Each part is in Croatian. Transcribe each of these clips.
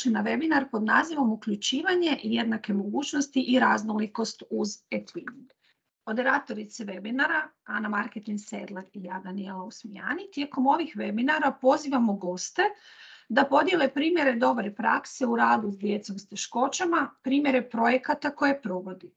na webinar pod nazivom Uključivanje i jednake mogućnosti i raznolikost uz e-twinning. Moderatorice webinara Ana Marketin Sedlar i ja Danijela Usmijani tijekom ovih webinara pozivamo goste da podijele primjere dobre prakse u radu s djecom s teškoćama, primjere projekata koje provodi.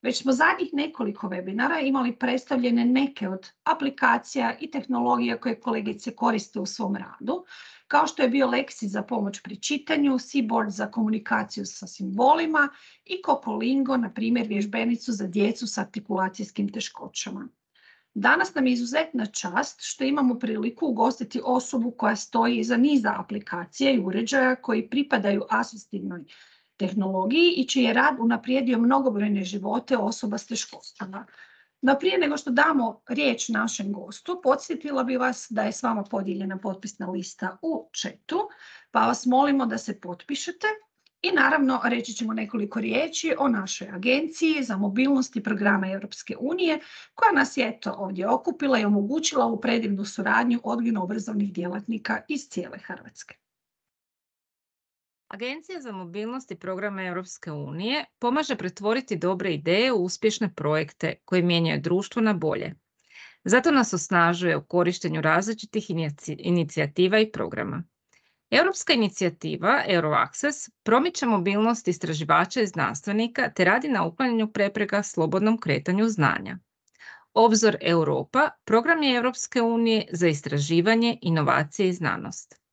Već smo zadnjih nekoliko webinara imali predstavljene neke od aplikacija i tehnologija koje kolegice koriste u svom radu, kao što je bio Lexi za pomoć pri čitanju, Seaboard za komunikaciju sa simbolima i Cocolingo, na primjer, vježbenicu za djecu s artikulacijskim teškoćama. Danas nam je izuzetna čast što imamo priliku ugostiti osobu koja stoji iza niza aplikacija i uređaja koji pripadaju asistivnoj tehnologiji i čiji je rad unaprijedio mnogobrojne živote osoba s teškoćama. No prije nego što damo riječ našem gostu, podsjetila bi vas da je s vama podijeljena potpisna lista u chatu, pa vas molimo da se potpišete i naravno reći ćemo nekoliko riječi o našoj agenciji za mobilnost i programe Europske unije koja nas je ovdje okupila i omogućila u predivnu suradnju odgojno-obrazovnih djelatnika iz cijele Hrvatske. Agencija za mobilnost i programe Europske unije pomaže pretvoriti dobre ideje u uspješne projekte koji mijenjaju društvo na bolje. Zato nas osnažuje u korištenju različitih inicijativa i programa. Europska inicijativa EuroAccess promiče mobilnost istraživača i znanstvenika te radi na uklanjanju prepreka slobodnom kretanju znanja. Obzor Europa program je Europske unije za istraživanje, inovacije i znanost.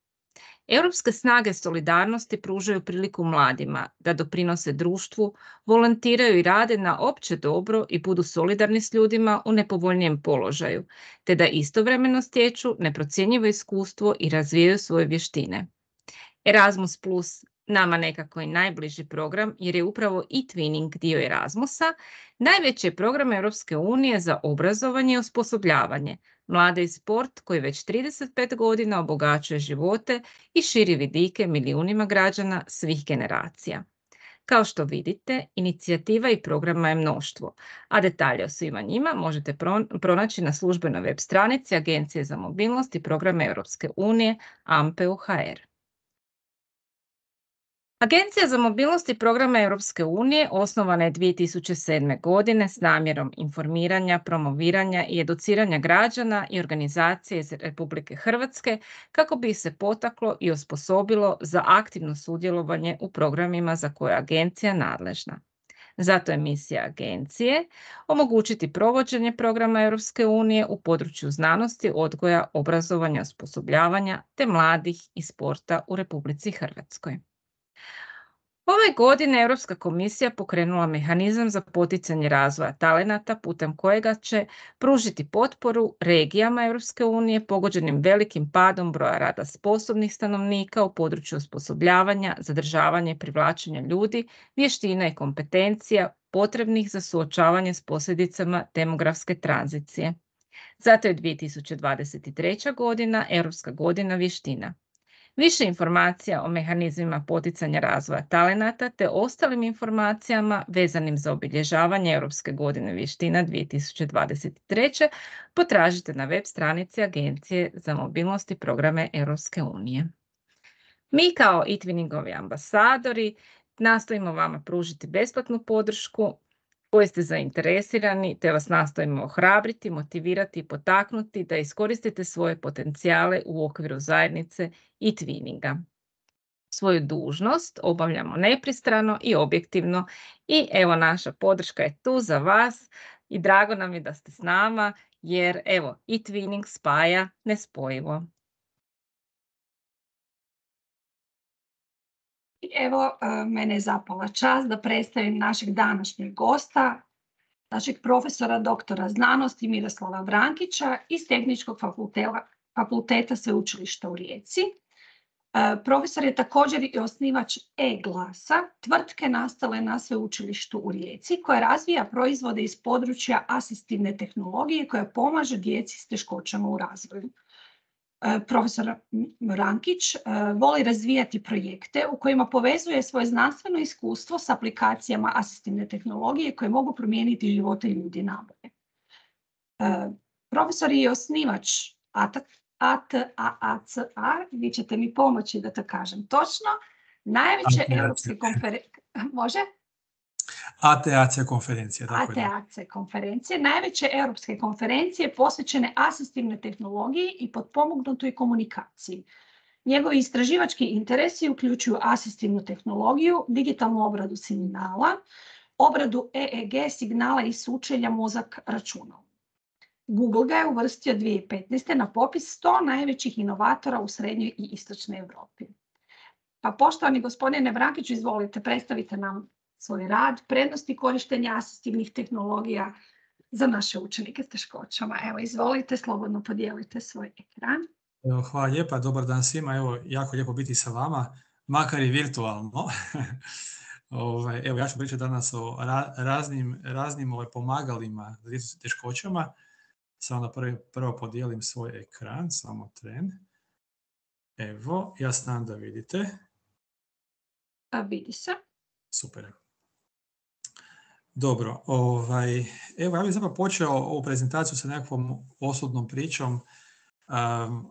Europske snage solidarnosti pružaju priliku mladima da doprinose društvu, volontiraju i rade na opće dobro i budu solidarni s ljudima u nepovoljnijem položaju, te da istovremeno stječu neprocjenjivo iskustvo i razvijaju svoje vještine. Erasmus Plus, nama nekako i najbliži program jer je upravo e-twinning dio Erasmusa, najveći je program Europske unije za obrazovanje i osposobljavanje, mlade i sport koji već 35 godina obogaćuje živote i širi vidike milijunima građana svih generacija. Kao što vidite, inicijativa i programa je mnoštvo, a detalje o svima njima možete pronaći na službenoj web stranici Agencije za mobilnost i programe Europske unije AMPEU.hr. Agencija za mobilnost i programe Europske unije osnovana je 2007. godine s namjerom informiranja, promoviranja i educiranja građana i organizacije iz Republike Hrvatske kako bi ih se potaklo i osposobilo za aktivno sudjelovanje u programima za koje je agencija nadležna. Zato je misija agencije omogućiti provođenje programa Europske unije u području znanosti, odgoja, obrazovanja, osposobljavanja te mladih i sporta u Republici Hrvatskoj. Ove godine Europska komisija pokrenula mehanizam za poticanje razvoja talenata putem kojega će pružiti potporu regijama Europske unije pogođenim velikim padom broja rada sposobnih stanovnika u području osposobljavanja, zadržavanja i privlačenja ljudi, vještina i kompetencija potrebnih za suočavanje s posljedicama demografske tranzicije. Zato je 2023. godina Europska godina vještina. Više informacija o mehanizmima poticanja razvoja talenata te ostalim informacijama vezanim za obilježavanje Europske godine vještina 2023. potražite na web stranici Agencije za mobilnost i programe Europske unije. Mi kao e-twinningovi ambasadori nastojimo vama pružiti besplatnu podršku koji ste zainteresirani, te vas nastojimo ohrabriti, motivirati i potaknuti da iskoristite svoje potencijale u okviru zajednice i twinninga. Svoju dužnost obavljamo nepristrano i objektivno i evo naša podrška je tu za vas i drago nam je da ste s nama jer evo i twinning spaja nespojivo. Evo, mene je zapala čast da predstavim našeg današnjeg gosta, našeg profesora doktora znanosti Miroslava Vrankića iz Tehničkog fakulteta Sveučilišta u Rijeci. Profesor je također i osnivač e-glasa, tvrtke nastale na Sveučilištu u Rijeci, koja razvija proizvode iz područja asistivne tehnologije koja pomaže djeci s teškoćama u razvoju. Profesor Vrankić voli razvijati projekte u kojima povezuje svoje znanstveno iskustvo s aplikacijama asistivne tehnologije koje mogu promijeniti živote ljudi nabolje. Profesor je osnivač ATAACA, vi ćete mi pomoći da to kažem točno, Najveće europske konferencije, može? ATAC konferencije, tako je. ATAC konferencije, najveće europske konferencije posvećene asistivnoj tehnologiji i potpomognutoj komunikaciji. Njegovi istraživački interesi uključuju asistivnu tehnologiju, digitalnu obradu signala, obradu EEG signala i sučelja mozak-računalo. Google ga je uvrstio 2015. na popis 100 najvećih inovatora u srednjoj i istočnoj Europi. Pa poštovani gospodine Vrankiću, izvolite, predstavite nam svoj rad, prednosti korištenja asistivnih tehnologija za naše učenike s teškoćama. Evo, izvolite, slobodno podijelite svoj ekran. Evo, hvala lijepa, dobar dan svima. Evo, jako lijepo biti sa vama, makar i virtualno. Evo, ja ću pričati danas o raznim pomagalima za djecu s teškoćama. Samo da prvo podijelim svoj ekran, samo tren. Evo, ja se nadam da vidite. Vidi se. Super. Dobro, evo ja bih zapravo počeo ovu prezentaciju sa nekakvom osobnom pričom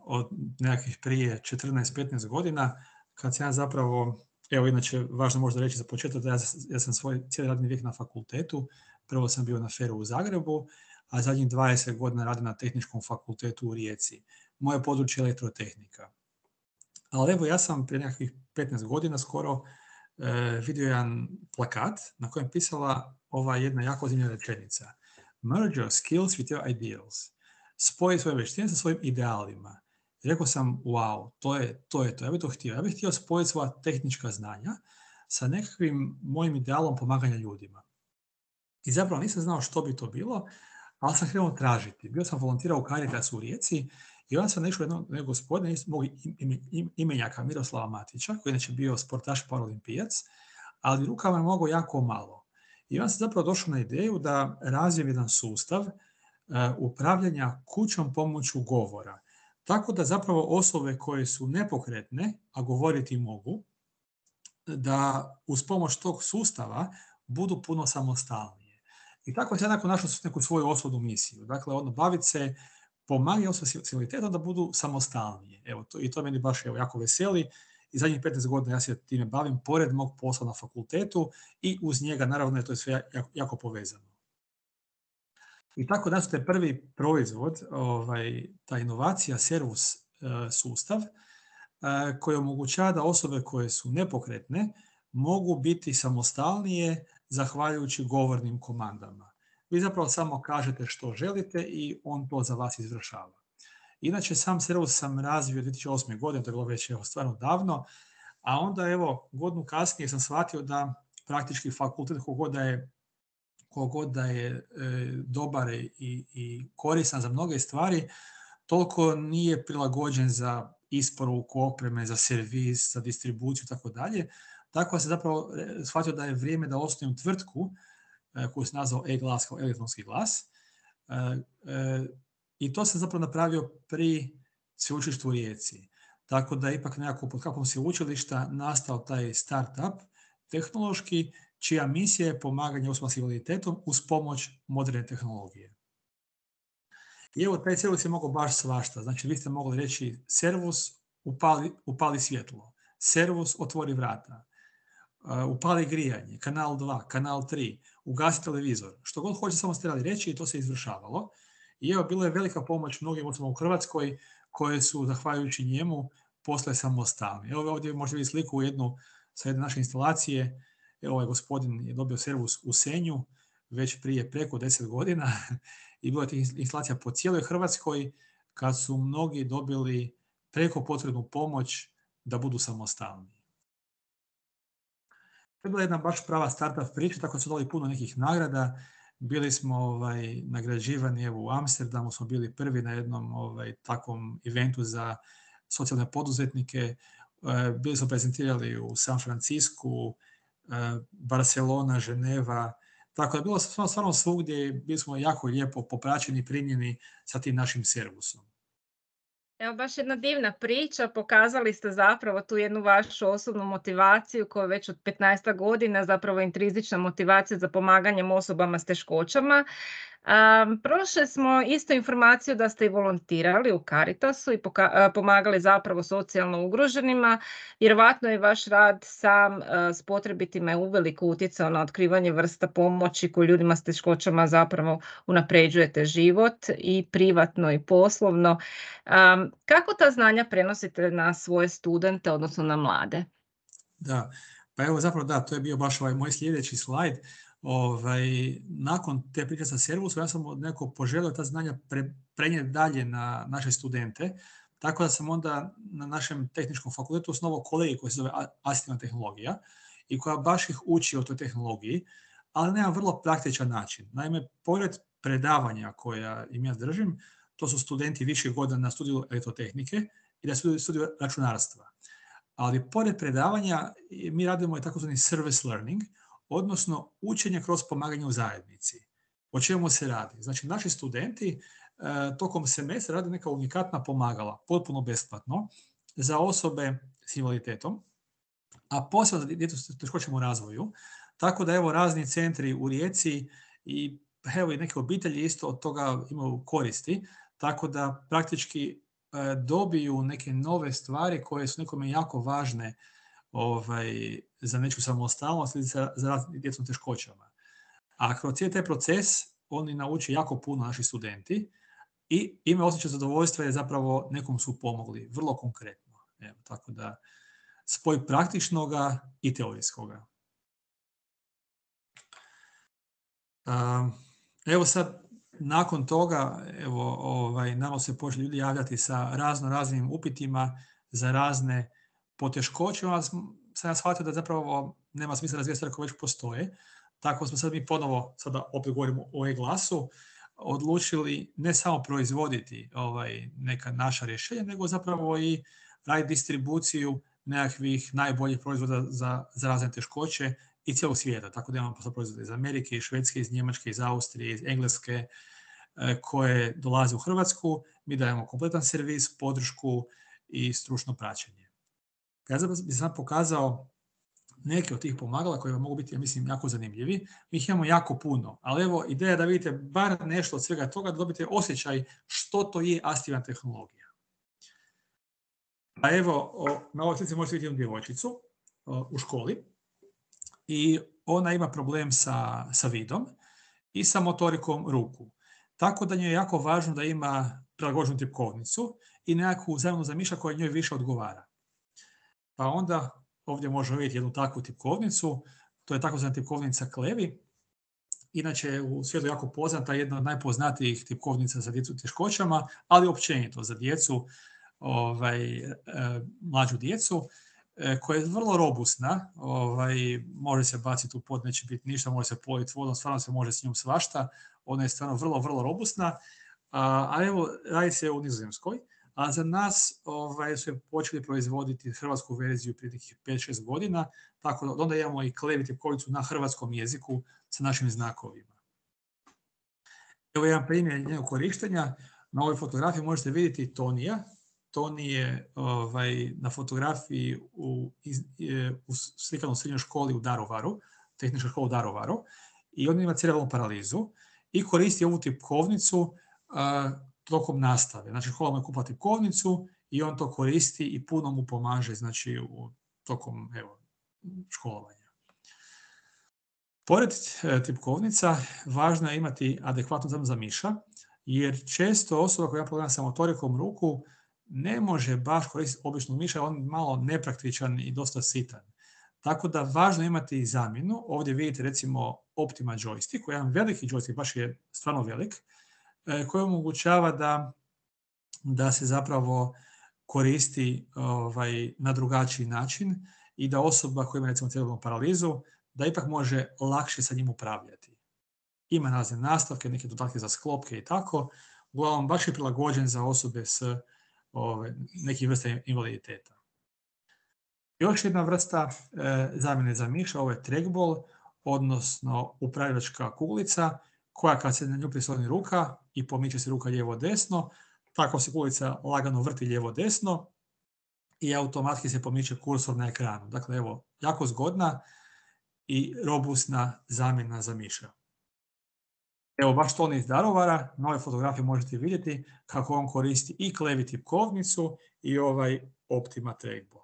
od nekakvih prije 14-15 godina, kad sam ja zapravo, evo inače važno možda reći za početak da ja sam svoj cijeli radni vijek na fakultetu, prvo sam bio na FER-u u Zagrebu, a zadnjih 20 godina radim na Tehničkom fakultetu u Rijeci. Moje područje je elektrotehnika. Ali evo ja sam prije nekakvih 15 godina skoro vidio jedan plakat na kojem je pisala ova jedna jako zanimljiva rečenica. Merge your skills with your ideals. Spoji svoje vještine sa svojim idealima. I rekao sam, wow, to je to. Ja bih to htio. Ja bih htio spojiti svoja tehnička znanja sa nekakvim mojim idealom pomaganja ljudima. I zapravo nisam znao što bi to bilo, ali sam krenuo tražiti. Bio sam volontirao u Caritasu u Rijeci i onda sam našao jednog gospodina, mog imenjaka Miroslava Matića, koji je inače bio sportaš paralimpijac, ali rukama je mogao jako malo. I onda sam zapravo došao na ideju da razvijem jedan sustav upravljanja kućnom pomoću govora. Tako da zapravo osobe koje su nepokretne, a govoriti mogu, da uz pomoć tog sustava budu puno samostalnije. I tako sam nakon našao neku svoju osobnu misiju. Dakle, baviti se pomaganje osobe s invaliditetom da budu samostalnije. Evo, i to meni baš jako veseli. I zadnjih 15 godina ja se time bavim pored mog posla na fakultetu i uz njega, naravno, je to sve jako povezano. I tako da je prvi proizvod, ta inovacija, servus sustav, koji omogućava da osobe koje su nepokretne mogu biti samostalnije zahvaljujući govornim komandama. Vi zapravo samo kažete što želite i on to za vas izvršava. Inače, sam servus sam razvio 2008. godine, to je bilo već stvarno davno, a onda godinu kasnije sam shvatio da praktički fakultet kogod da je dobar i koristan za mnoge stvari, toliko nije prilagođen za isporuku opreme, za servis, za distribuciju i tako dalje. Tako sam zapravo shvatio da je vrijeme da osnujem tvrtku koju sam nazvao e-glas kao elektronski glas. I to sam zapravo napravio pri sveučilištu u Rijeci. Tako da je ipak nekako pod kapom sveučilišta nastao taj startup tehnološki, čija misija je pomaganje osobama s invaliditetom uz pomoć moderne tehnologije. I evo, taj servus je mogao baš svašta. Znači, vi ste mogli reći servus upali svjetlo, servus otvori vrata, upali grijanje, kanal 2, kanal 3, ugasi televizor. Što god hoće, samo ste trebali reći i to se izvršavalo. I evo, bilo je velika pomoć mnogim osobama u Hrvatskoj koje su, zahvaljujući njemu, postale samostalni. Evo ovdje možete vidjeti sliku sa jedne naše instalacije. Evo, ovaj gospodin je dobio servus u Senju već prije preko 10 godina i bilo je tih instalacija po cijeloj Hrvatskoj kad su mnogi dobili preko potrebnu pomoć da budu samostalni. To je bila jedna baš prava startup priča, tako su dali puno nekih nagrada. Bili smo nagrađivani, u Amsterdamu smo bili prvi na jednom takvom eventu za socijalne poduzetnike. Bili smo prezentirali u San Francisku, Barcelona, Ženeva. Tako da bilo stvarno svugdje, bili smo jako lijepo popraćeni, primljeni sa tim našim servusom. Evo, baš jedna divna priča, pokazali ste zapravo tu jednu vašu osobnu motivaciju koja već od 15 godina zapravo intrizična motivacija za pomaganjem osobama s teškoćama. Prošli smo isto informaciju da ste i volontirali u Caritasu i pomagali zapravo socijalno ugroženima. Vjerovatno je vaš rad sam s potrebitima je uveliko utjecao na otkrivanje vrsta pomoći koju ljudima s teškoćama zapravo unapređujete život i privatno i poslovno. Kako ta znanja prenosite na svoje studente, odnosno na mlade? Da, pa evo zapravo da, to je bio baš moj sljedeći slajd. Nakon te priče sa Servusom, ja sam od nekog poželio ta znanja prenijeti dalje na naše studente, tako da sam onda na našem tehničkom fakultetu osnovao kolegij koji se zove asistivna tehnologija i koja baš ih uči o toj tehnologiji, ali na jedan vrlo praktičan način. Naime, pored predavanja koja im ja držim, to su studenti viših godina na studiju elektrotehnike i na studiju računarstva. Ali pored predavanja mi radimo i takozvani service learning, odnosno učenje kroz pomaganje u zajednici. O čemu se radi? Znači, naši studenti tokom semestra rade neka unikatna pomagala, potpuno besplatno, za osobe s invaliditetom, a posebno za djecu s teškoćama u razvoju. Tako da evo razni centri u Rijeci i evo i neke obitelji isto od toga imaju koristi, tako da praktički dobiju neke nove stvari koje su nekome jako važne za nečiju samostalnost ili za djecom teškoćama. A kroz cijeli taj proces oni nauče jako puno naši studenti i imaju osjećaj zadovoljstva jer zapravo nekom su pomogli, vrlo konkretno. Evo, tako da spoj praktičnoga i teorijskoga. Evo sad, nakon toga, nama se počeli ljudi javljati sa raznim upitima za razne poteškoće. Sam ja shvatio da zapravo nema smisla razvijati stvari koje već postoje. Tako smo sad mi ponovo, sada opet govorimo o e-glasu, odlučili ne samo proizvoditi neka naša rješenja, nego zapravo i raditi distribuciju nekakvih najboljih proizvoda za razne teškoće i cijelog svijeta. Tako da imamo proizvode iz Amerike, iz Švedske, iz Njemačke, iz Austrije, iz Engleske, koje dolaze u Hrvatsku. Mi dajemo kompletan servis, podršku i stručno praćenje. Ja bih sam pokazao neke od tih pomagala koje mogu biti, ja mislim, jako zanimljivi. Mi ih imamo jako puno, ali evo ideja da vidite bar nešto od svega toga, da dobite osjećaj što to je asistivna tehnologija. A evo, na ovoj slici možete vidjeti jednu djevojčicu u školi i ona ima problem sa vidom i sa motorikom ruku. Tako da njoj je jako važno da ima prilagođenu tipkovnicu i nekakvu zamjenu za miša koja njoj više odgovara. Pa onda ovdje možemo vidjeti jednu takvu tipkovnicu, to je takozvana tipkovnica Klevi. Inače u svijetu jako poznata, jedna od najpoznatijih tipkovnica za djecu teškoćama, ali općenito za djecu, mlađu djecu, koja je vrlo robustna, može se baciti u pod, neće biti ništa, može se politi vodom, stvarno se može s njom svašta, ona je stvarno vrlo, vrlo robustna, a evo radi se u Nizozemskoj, a za nas su počeli proizvoditi hrvatsku verziju prije nekih 5-6 godina, tako da onda imamo i Klevi tipkovnicu na hrvatskom jeziku sa našim znakovima. Evo jedan primjer njenog korištenja. Na ovoj fotografiji možete vidjeti Tonija. Toni je na fotografiji u slikanoj srednjoj školi u Daruvaru, tehnička škola u Daruvaru, i on ima cerebralnu paralizu i koristi ovu tipkovnicu tokom nastave. Znači, škola mu je kupila tipkovnicu i on to koristi i puno mu pomaže, znači, tokom školovanja. Pored tipkovnica, važno je imati adekvatnu zamjenu za miša, jer često osoba koja ima problem sa motorikom ruku ne može baš koristiti običnu miša, on je malo nepraktičan i dosta sitan. Tako da važno je imati zamjenu. Ovdje vidite recimo Optima joystick, koji je jedan veliki joystick, baš je stvarno velik, koji omogućava da se zapravo koristi na drugačiji način i da osoba koja ima recimo cerebralnu paralizu, da ipak može lakše sa njim upravljati. Ima razne nastavke, neke dodatke za sklopke i tako. Uglavnom, baš je prilagođen za osobe s nekih vrsta invaliditeta. Još jedna vrsta zamjene za miša, ovo je trackball, odnosno upravljačka kuglica, koja kad se na nju prisloni ruka i pomiče se ruka lijevo-desno, tako se kuglica lagano vrti lijevo-desno i automatski se pomiče kursor na ekranu. Dakle, evo, jako zgodna i robustna zamjena za miša. Evo, baš to iz Daruvara, na ovoj fotografiji možete vidjeti kako on koristi i Klevi tipkovnicu i ovaj Optima trackball.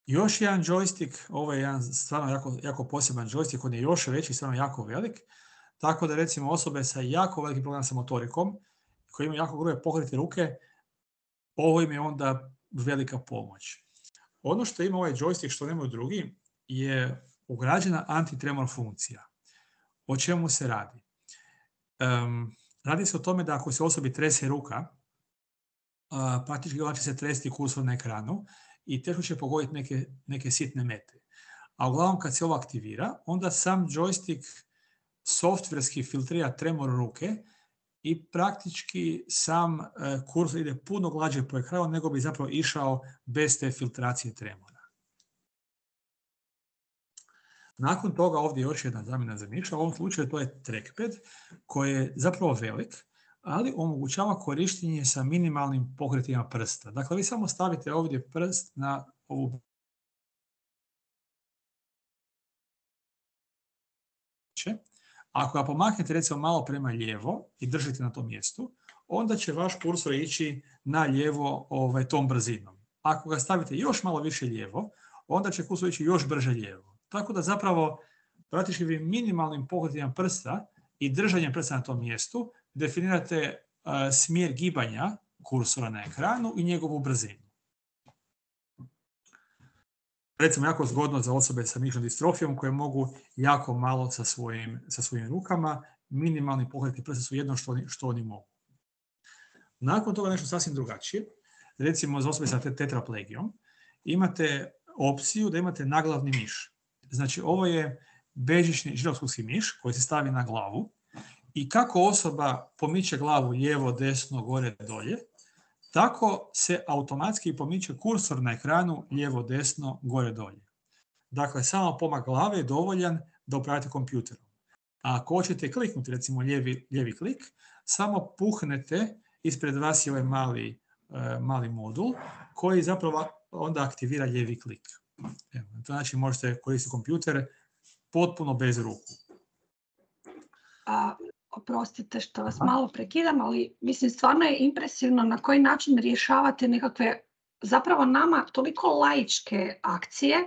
Još jedan joystick, ovo je jedan stvarno jako poseban joystick, on je još veći, stvarno jako velik, tako da recimo osobe sa jako velikim problemom sa motorikom, koji imaju jako grube pokrete ruke, ovo im je onda velika pomoć. Ono što ima ovaj joystick, što nemaju drugi, je ugrađena antitremor funkcija. O čemu se radi? Radi se o tome da ako se osobi trese ruka, praktički ona će se tresti kursor na ekranu i teško će pogoditi neke sitne mete. A uglavnom kad se ovo aktivira, onda sam joystick softverski filtrira tremor ruke i praktički sam kursor ide puno glađe po ekranu nego bi zapravo išao bez te filtracije tremora. Nakon toga ovdje još jedna zamjena za miša, u ovom slučaju to je trackpad koji je zapravo velik, ali omogućava korištenje sa minimalnim pokretima prsta. Dakle, vi samo stavite ovdje prst na ovu ako ga pomaknete recimo malo prema lijevo i držite na tom mjestu, onda će vaš kursor ići na lijevo tom brzinom. Ako ga stavite još malo više lijevo, onda će kursor ići još brže lijevo. Tako da zapravo praktički vi minimalnim pokretima prsta i držanjem prsta na tom mjestu definirate smjer gibanja kursora na ekranu i njegovu brzinu. Recimo, jako zgodno za osobe sa mišićnom distrofijom koje mogu jako malo sa svojim rukama. Minimalni pokreti prsta su jedno što oni mogu. Nakon toga nešto sasvim drugačije. Recimo, za osobe sa tetraplegijom imate opciju da imate naglavni miš. Znači, ovo je bežični žiroskopski miš koji se stavi na glavu i kako osoba pomiče glavu lijevo, desno, gore, dolje, tako se automatski pomiče kursor na ekranu lijevo, desno, gore, dolje. Dakle, samo pomak glave je dovoljan da upravite kompjuterom. A ako hoćete kliknuti, recimo lijevi klik, samo puhnete ispred vas je ovaj mali modul koji zapravo onda aktivira lijevi klik. Evo, na to način možete koristiti kompjuter potpuno bez ruku. Oprostite što vas malo prekidam, ali mislim stvarno je impresivno na koji način rješavate nekakve zapravo nama toliko laičke akcije,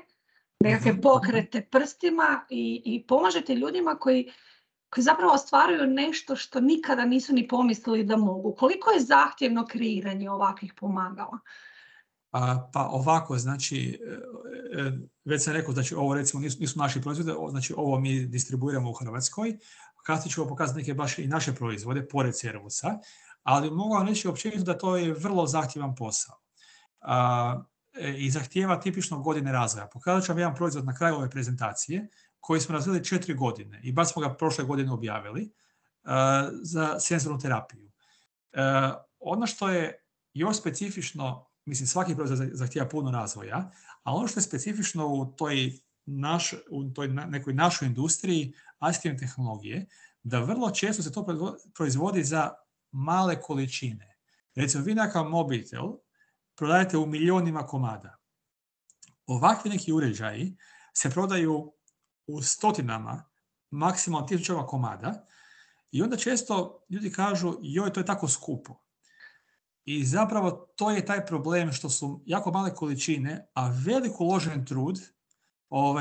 nekakve pokrete prstima i pomažete ljudima koji zapravo ostvaruju nešto što nikada nisu ni pomislili da mogu. Koliko je zahtjevno kreiranje ovakvih pomagala? Pa ovako, znači, već sam rekao, znači ovo recimo nisu naši proizvode, znači ovo mi distribuiramo u Hrvatskoj. Kasnije ću vam pokazati neke baš i naše proizvode, pored Servusa, ali mogu vam reći općenito da to je vrlo zahtjevan posao. I zahtijeva tipično godine razvoja. Pokazat ću vam jedan proizvod na kraju ove prezentacije koji smo razvili 4 godine i baš smo ga prošle godine objavili za senzornu terapiju. Ono što je još specifično, mislim svaki proizvod zahtijeva puno razvoja, a ono što je specifično u toj nekoj našoj industriji asistivne tehnologije, da vrlo često se to proizvodi za male količine. Recimo, vi nekakav mobitel prodajete u milionima komada. Ovakvi neki uređaji se prodaju u stotinama, maksimalno 1000 komada i onda često ljudi kažu joj, to je tako skupo. I zapravo to je taj problem što su jako male količine, a velik uložen trud,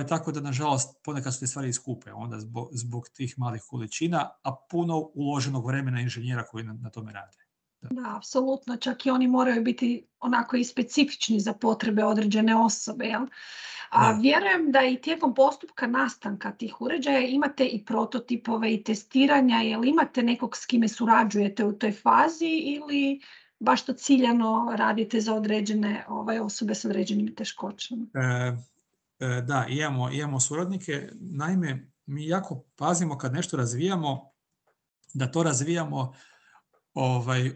tako da nažalost ponekad su te stvari skupe onda zbog tih malih količina, a puno uloženog vremena inženjera koji na tome rade. Da, apsolutno, čak i oni moraju biti onako i specifični za potrebe određene osobe. Jel? Vjerujem da i tijekom postupka nastanka tih uređaja imate i prototipove i testiranja, jel imate nekog s kime surađujete u toj fazi ili baš to ciljano radite za određene osobe s određenim teškoćama? Da, imamo suradnike. Naime, mi jako pazimo kad nešto razvijamo, da to razvijamo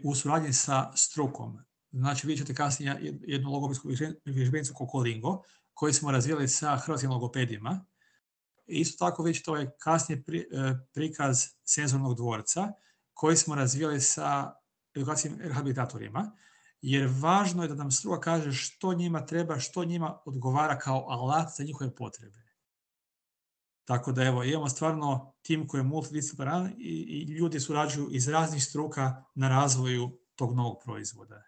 u suradnji sa strukom. Znači, vidjet ćete kasnije jednu logopedsku vježbenicu Kokolingo, koju smo razvijali sa hrvatskim logopedima. Isto tako vidjet ćete kasnije prikaz senzornog dvorca, koji smo razvijali sa edukacijskim rehabilitatorima, jer važno je da nam struka kaže što njima treba, što njima odgovara kao alat za njihove potrebe. Tako da evo, imamo stvarno tim koji je multidisciplinaran i ljudi surađuju iz raznih struka na razvoju tog novog proizvoda.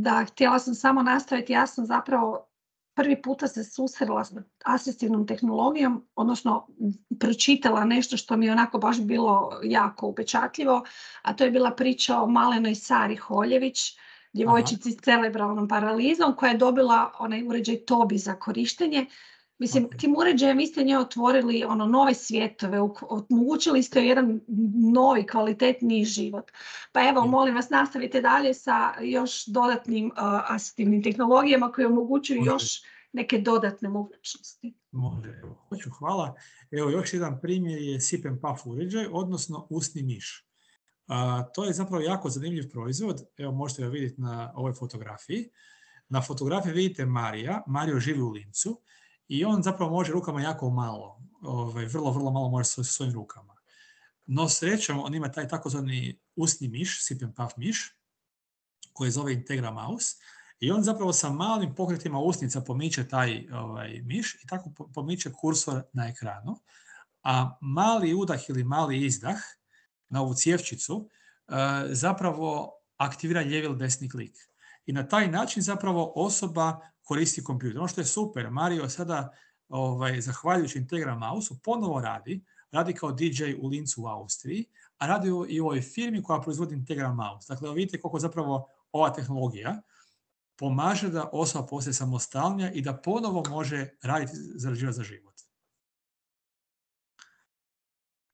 Da, htjela sam samo nastaviti, ja sam zapravo prvi puta se susrela s asistivnom tehnologijom, odnosno pročitala nešto što mi je onako baš bilo jako upečatljivo, a to je bila priča o malenoj Sari Holjević, djevojčici s cerebralnom paralizom koja je dobila onaj uređaj Tobi za korištenje. Mislim, tim uređajem vi ste nje otvorili nove svjetove, omogućili ste jedan novi, kvalitetniji život. Pa evo, molim vas, nastavite dalje sa još dodatnim asistivnim tehnologijama koje omogućuju još neke dodatne mogućnosti. Može, evo, hoću, hvala. Evo, još jedan primjer je Sip and Puff uređaj, odnosno usni miš. To je zapravo jako zanimljiv proizvod. Evo, možete ga vidjeti na ovoj fotografiji. Na fotografiji vidite Mario živi u Lincu i on zapravo može rukama jako malo, vrlo malo može sa svojim rukama. No srećom, on ima taj takozvani usni miš, Sip and Puff miš, koji zove Integra Mouse, i on zapravo sa malim pokretima usnica pomiče taj miš i tako pomiče kursor na ekranu, a mali udah ili mali izdah na ovu cjevčicu zapravo aktivira lijevi ili desni klik. I na taj način zapravo osoba koristi kompjuter. Ono što je super, Mario sada, zahvaljujući Integra Mouse-u, ponovo radi kao DJ u Lincu u Austriji, a radi i u ovoj firmi koja proizvodi Integra Mouse. Dakle, vidite koliko zapravo ova tehnologija pomaže da osoba postaje samostalnija i da ponovo može raditi, zarađivati za život.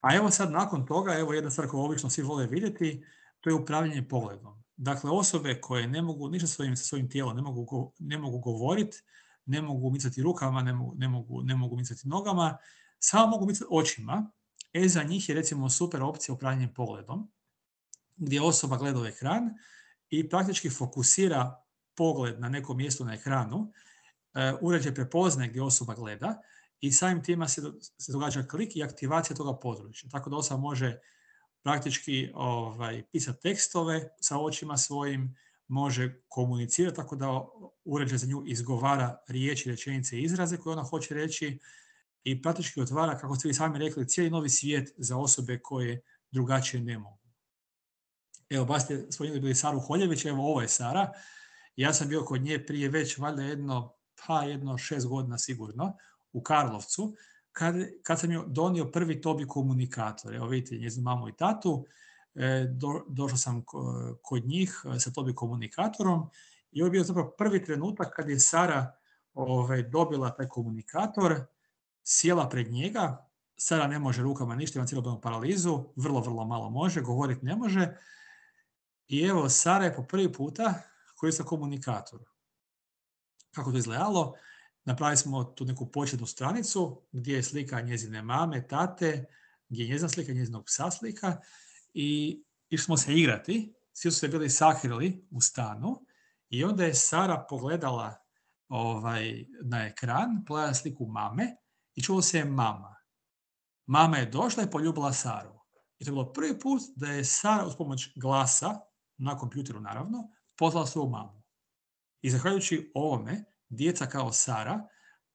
A evo sad nakon toga, evo jedna stvar koju obično svi vole vidjeti, to je upravljanje pogledom. Dakle, osobe koje ne mogu ništa sa svojim tijelom, ne mogu govoriti, ne mogu micati rukama, ne mogu micati nogama, samo mogu micati očima. Za njih je recimo super opcija upravljanje pogledom, gdje osoba gleda u ekran i praktički fokusira pogled na neko mjesto na ekranu, uređaj prepoznaje gdje osoba gleda i samim tima se događa klik i aktivacija toga područja. Tako da osoba može praktički pisati tekstove sa očima svojim, može komunicirati tako da uređaj za nju izgovara riječi, rečenice i izraze koje ona hoće reći i praktički otvara, kako ste vi sami rekli, cijeli novi svijet za osobe koje drugačije ne mogu. Evo, baš ste spomenuli bili Saru Holjević, evo ovo je Sara. Ja sam bio kod nje prije već valjda jedno 6 godina sigurno u Karlovcu, kad sam joj donio prvi Tobi komunikator. Evo vidite njezinu mamu i tatu, došao sam kod njih sa Tobi komunikatorom i ovo je bio zapravo prvi trenutak kad je Sara dobila taj komunikator, sjela pred njega. Sara ne može rukama ništa, ima cijelodnevnu paralizu, vrlo malo može, govoriti ne može. I evo, Sara je po prvi puta koristila komunikator. Kako to izgledalo? Napravili smo tu neku početnu stranicu gdje je slika njezine mame, tate, gdje je njezina slika, njezinog psa slika i išli smo se igrati. Svi su se bili sakrili u stanu i onda je Sara pogledala na ekran, pogledala sliku mame i čulo se je mama. Mama je došla i poljubila Saru. I to je bilo prvi put da je Sara uz pomoć glasa, na kompjuteru naravno, pozvala svoju mamu. I zahvaljujući ovome, djeca kao Sara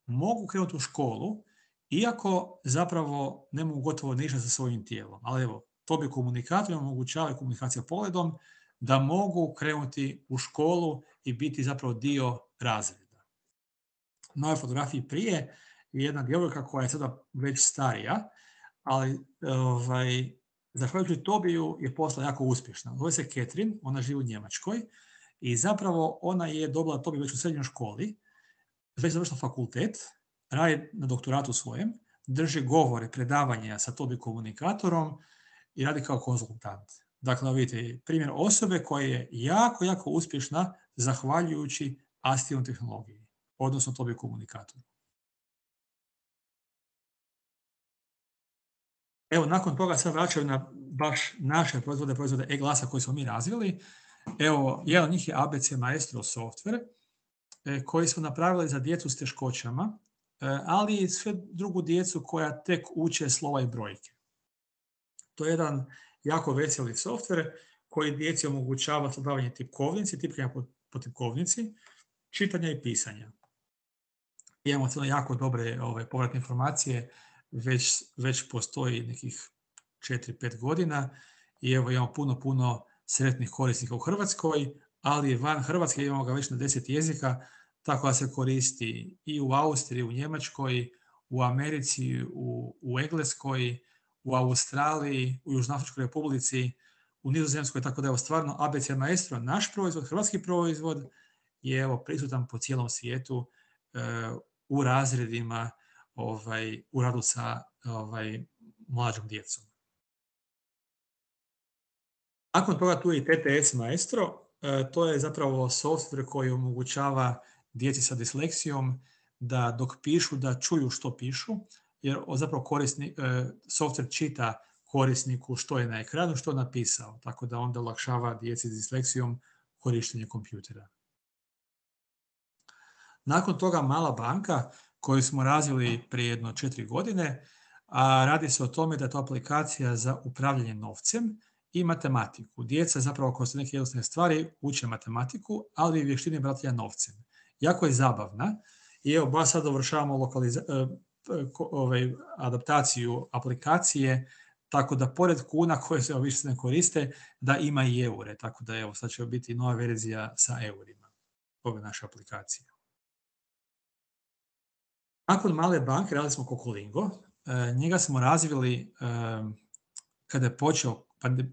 mogu krenuti u školu, iako zapravo ne mogu gotovo ništa sa svojim tijelom. Ali evo, Tobi komunikator omogućava komunikacija pogledom da mogu krenuti u školu i biti zapravo dio razreda. Na ovoj fotografiji prije je jedna djevojka koja je sada već starija, ali zahvaljujući Tobiju je postala jako uspješna. Zove se Catherine, ona živi u Njemačkoj i zapravo ona je dobila Tobi već u srednjoj školi, već završila fakultet, radi na doktoratu svojem, drži govore, predavanja sa Tobi komunikatorom i radi kao konzultant. Dakle, vidite, primjer osobe koja je jako uspješna zahvaljujući asistivnoj tehnologiji, odnosno Tobi komunikatoru. Evo, nakon toga sad vraćaju na baš naše proizvode e-glasa koje smo mi razvili. Evo, jedan od njih je ABC Maestro software, koji smo napravili za djecu s teškoćama, ali i sve drugu djecu koja tek uče slova i brojke. To je jedan jako veseli software koji djeci omogućava savladavanje tipkovnici, tipkanja po tipkovnici, čitanja i pisanja. imamo cijelo jako dobre povratne informacije, već postoji nekih 4-5 godina i evo imamo puno sretnih korisnika u Hrvatskoj, ali van Hrvatske imamo ga već na 10 jezika, tako da se koristi i u Austriji, u Njemačkoj, u Americi, u Engleskoj, u Australiji, u Južnoafričkoj Republici, u Nizozemskoj, tako da je stvarno ABC Maestro, naš proizvod, hrvatski proizvod, je evo prisutan po cijelom svijetu u razredima, u radu sa mlađom djecom. Nakon toga tu je i TTS Maestro, to je zapravo software koji omogućava djeci sa disleksijom da dok pišu, da čuju što pišu, jer zapravo software čita korisniku što je na ekranu, što je napisao, tako da onda olakšava djeci s disleksijom korištenje kompjutera. Nakon toga Mala banka, koju smo razvili prije jedno 4 godine, a radi se o tome da je to aplikacija za upravljanje novcem i matematiku. Djeca zapravo kroz neke jednostavne stvari uče matematiku, ali i vještine bratanja novcem. Jako je zabavna i evo baš sad dovršavamo adaptaciju aplikacije, tako da pored kuna koje se više se ne koriste, da ima i eure. Tako da evo sad će biti nova verzija sa eurima ove naše aplikacije. Nakon Male banke radili smo Kokolingo. Njega smo razvili kada je počeo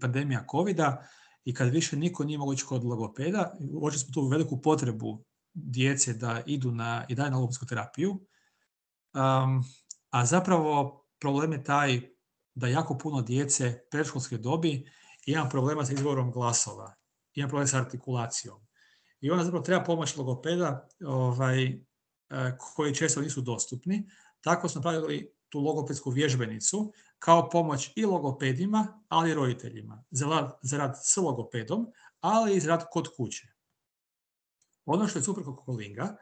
pandemija covida i kad više niko nije mogao ići kod logopeda. Uočili smo tu veliku potrebu djece da idu i dalje na logopedsku terapiju. A zapravo problem je taj da jako puno djece predškolske dobi ima problema sa izgovorom glasova, ima problem sa artikulacijom. I onda zapravo treba pomoć logopeda koji često nisu dostupni. Tako smo napravili tu logopedsku vježbenicu kao pomoć i logopedima, ali i roditeljima. Za rad s logopedom, ali i za rad kod kuće. Ono što je super kod Kokolinga,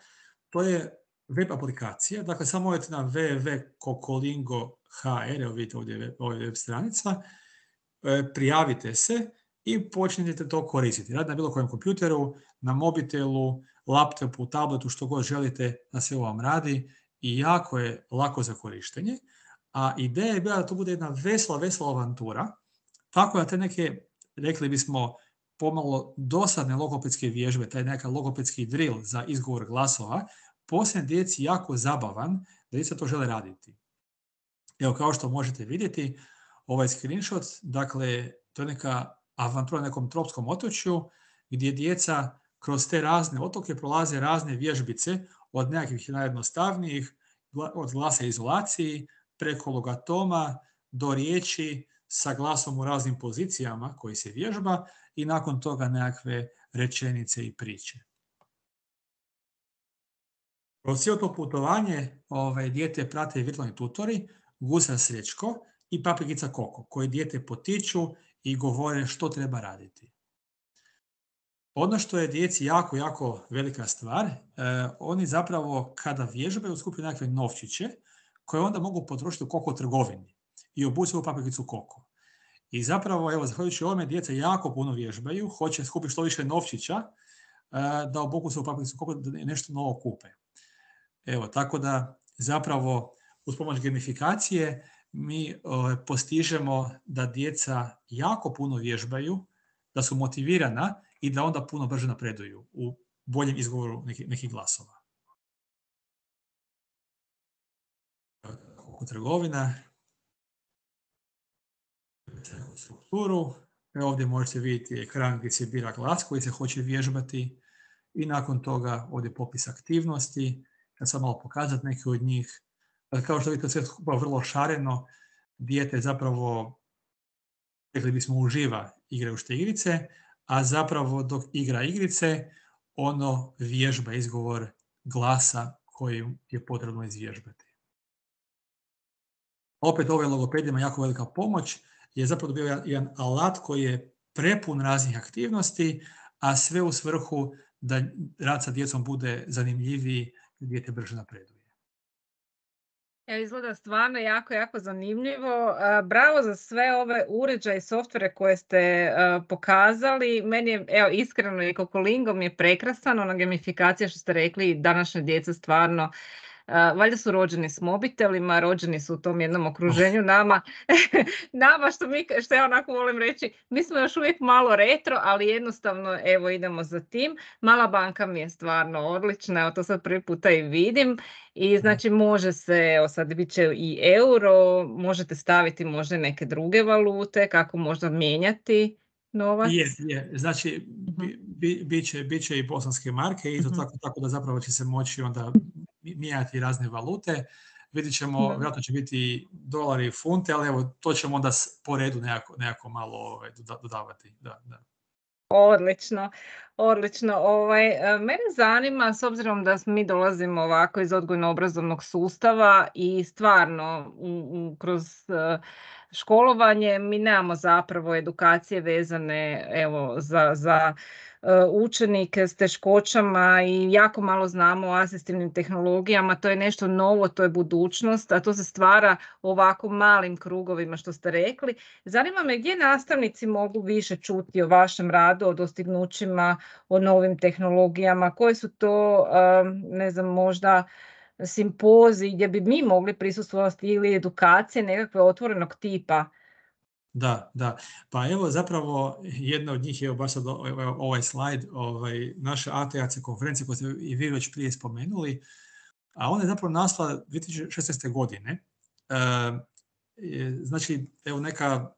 to je web aplikacija. Dakle, samo odete na www.kokolingo.hr, evo vidite ovdje web stranica, prijavite se i počnite to koristiti. Radi na bilo kojem kompjuteru, na mobitelu, laptopu, tabletu, što god želite, na sve vam radi i jako je lako za korištenje. A ideja je bila da to bude jedna vesela avantura, tako da te neke, rekli bismo, pomalo dosadne logopedske vježbe, taj neka logopedski drill za izgovor glasova, postane djeci jako zabavan, da djeca to žele raditi. Evo, kao što možete vidjeti, ovaj screenshot, dakle, to je neka avantura na nekom tropskom otočju, gdje djeca kroz te razne otoke prolaze razne vježbice, od nekakvih najjednostavnijih, od glasa izolaciji, preko logatoma, do riječi sa glasom u raznim pozicijama koji se vježba i nakon toga nekakve rečenice i priče. Kroz cijelo to putovanje dijete prate virtualni tutori, Gusar Srećko i Paprikica Koko, koji dijete potiču i govore što treba raditi. Ono što je djeci jako velika stvar, oni zapravo kada vježbaju skupljaju nekakve novčiće koje onda mogu potrošiti u Koko trgovini i obući u Paprikicu Koko. I zapravo, evo, zahvaljujući ovome, djeca jako puno vježbaju, hoće skupiti što više novčića da obuku se u Paprikicu Koko, da nešto novo kupe. Evo, tako da zapravo uz pomoć gamifikacije mi postižemo da djeca jako puno vježbaju, da su motivirana i da onda puno brže napreduju u boljem izgovoru nekih glasova. Koko trgovina, strukturu, ovdje možete vidjeti ekran gdje se bira glas koji se hoće vježbati i nakon toga ovdje popis aktivnosti. Ja sam malo pokazati neke od njih. Kao što vidite, sve skupa vrlo šareno, dijete zapravo, rekli bismo, uživa igrajući te igrice, a zapravo dok igra igrice, ono vježba izgovor glasa koji je potrebno izvježbati. Opet ovaj logopedima jako velika pomoć, je zapravo bio jedan alat koji je prepun raznih aktivnosti, a sve u svrhu da rad sa djecom bude zanimljiviji, dijete brže napreduje. Evo, izgleda stvarno jako zanimljivo. Bravo za sve ove uređaje i softvere koje ste pokazali. Meni je, evo, iskreno, i Kokolingo mi je prekrasan, ona gamifikacija što ste rekli, današnja djeca stvarno valjda su rođeni s mobitelima, rođeni su u tom jednom okruženju nama, što ja onako volim reći, mi smo još uvijek malo retro, ali jednostavno evo idemo za tim. Mala banka mi je stvarno odlična, evo to sad prvi puta i vidim i znači može se, evo sad bit će i euro, možete staviti možda neke druge valute, kako možda mijenjati novac. Je. Znači, bit će i bosanske marke, i to tako da zapravo će se moći onda mijenjati razne valute. Vidjet ćemo, vjerojatno će biti dolari i funte, ali evo, to ćemo onda po redu nekako malo dodavati. Da. Odlično. Mene zanima, s obzirom da mi dolazimo ovako iz odgojno-obrazovnog sustava i stvarno kroz školovanje mi nemamo zapravo edukacije vezane evo, za učenike s teškoćama i jako malo znamo o asistivnim tehnologijama. To je nešto novo, to je budućnost, a to se stvara u ovako malim krugovima što ste rekli. Zanima me gdje nastavnici mogu više čuti o vašem radu, o dostignućima, o novim tehnologijama, koje su to, ne znam, možda simpoziji gdje bi mi mogli prisustvovati ili edukacije nekakve otvorenog tipa. Da. Pa evo zapravo jedna od njih je baš sad ovaj slajd, naša ATAC konferencija koju ste i vi već prije spomenuli, a ona je zapravo nastala 2016. godine. Znači, evo neka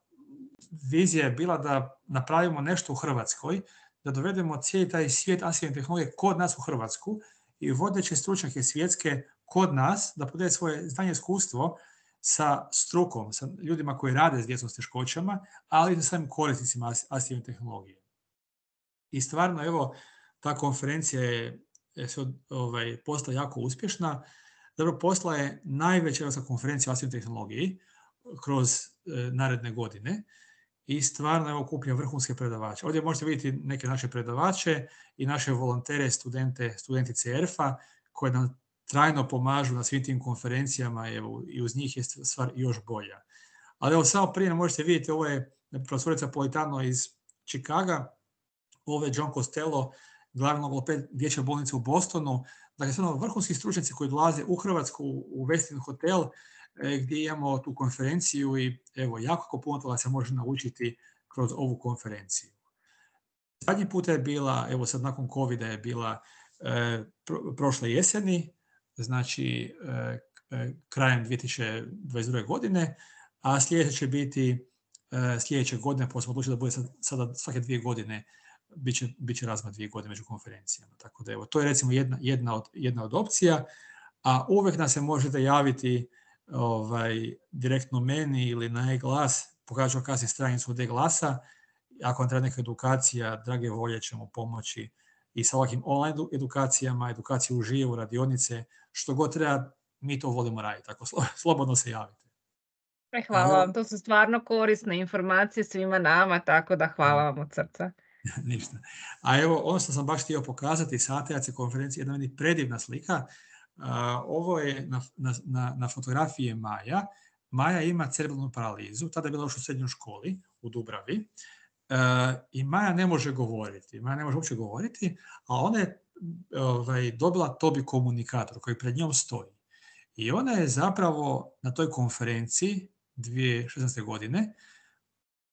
vizija je bila da napravimo nešto u Hrvatskoj, da dovedemo cijeli taj svijet asistivne tehnologije kod nas u Hrvatsku i vodeće stručnjake svjetske kod nas, da podijele svoje znanje i iskustvo sa strukom, sa ljudima koji rade s djecom s teškoćama, ali i sa samim korisnicima asistivne tehnologije. I stvarno, evo, ta konferencija je postala jako uspješna. Dobro, postala je najveća europska konferencija o asistivnoj tehnologiji kroz naredne godine i stvarno je okuplja vrhunske predavače. Ovdje možete vidjeti neke naše predavače i naše volontere, studentice ERF-a koje nam trajno pomažu na svim tim konferencijama, evo, i uz njih je stvar još bolja. Ali evo, samo prije možete vidjeti, ovo je profesorica Politano iz Chicaga, ovo je John Costello, glavni logoped dječje bolnice u Bostonu. Dakle, stvarno vrhunski stručnjaci koji dolaze u Hrvatsku u Westin Hotel, gdje imamo tu konferenciju i evo, jako puno toga se može naučiti kroz ovu konferenciju. Zadnji puta je bila, evo sad nakon COVID-a je bila prošle jeseni, znači krajem 2022. godine, a sljedeće će biti sljedeće godine, pa smo odlučili da bude sada svake 2 godine, bit će razmak 2 godine među konferencijama. Tako da evo, to je recimo jedna od opcija, a uvijek nas se možete javiti direktno meni ili na e-glas, pokazat ću kasnije stranicu od e-glasa. Ako vam treba neka edukacija, drage volje ćemo pomoći i sa ovakvim online edukacijama, edukaciju uživo, radionice, što god treba, mi to volimo raditi, tako slobodno se javite. Hvala vam, to su stvarno korisne informacije svima nama, tako da hvala vam od srca. Ništa. A evo, ono što sam baš htio pokazati sa ATAC konferencije, jedna meni predivna slika. Ovo je na fotografiji Maja. Maja ima cerebralnu paralizu, tada je bila još u srednjoj školi u Dubravi. I Maja ne može govoriti. Maja ne može uopće govoriti, a ona je dobila Tobii komunikator koji pred njom stoji. I ona je zapravo na toj konferenciji 2016. godine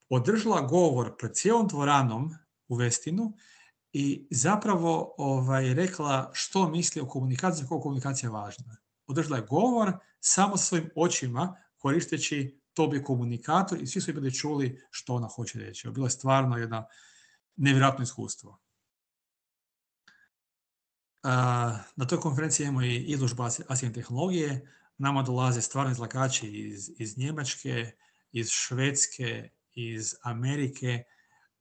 održala govor pred cijelom dvoranom u Westinu i zapravo rekla što misli o komunikaciji, koliko komunikacija je važna. Održala je govor samo sa svojim očima koristeći Tobii komunikator i svi su bili čuli što ona hoće reći. Bilo je stvarno jedno nevjerojatno iskustvo. Na toj konferenciji imamo i izložbu asistivne tehnologije. Nama dolaze stvarno izlagači iz Njemačke, iz Švedske, iz Amerike,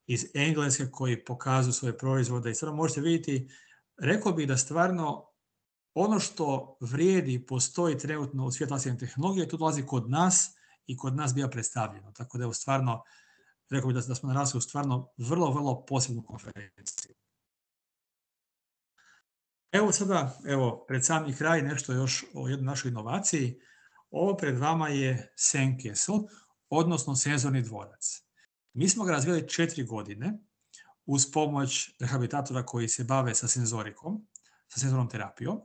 iz Engleske koji pokazuju svoje proizvode i stvarno možete vidjeti, rekao bih da stvarno ono što vrijedi i postoji trenutno u svijetu asistivne tehnologije, to dolazi kod nas i kod nas bija predstavljeno. Tako da je stvarno, rekao bih da smo narasli u stvarno vrlo, vrlo posebnu konferenciju. Evo sada, pred sami kraj nešto još o jednoj našoj inovaciji. Ovo pred vama je Sandcastle, odnosno senzorni dvorac. Mi smo ga razvijali 4 godine uz pomoć rehabilitatora koji se bave sa senzorikom, sa senzornom terapijom.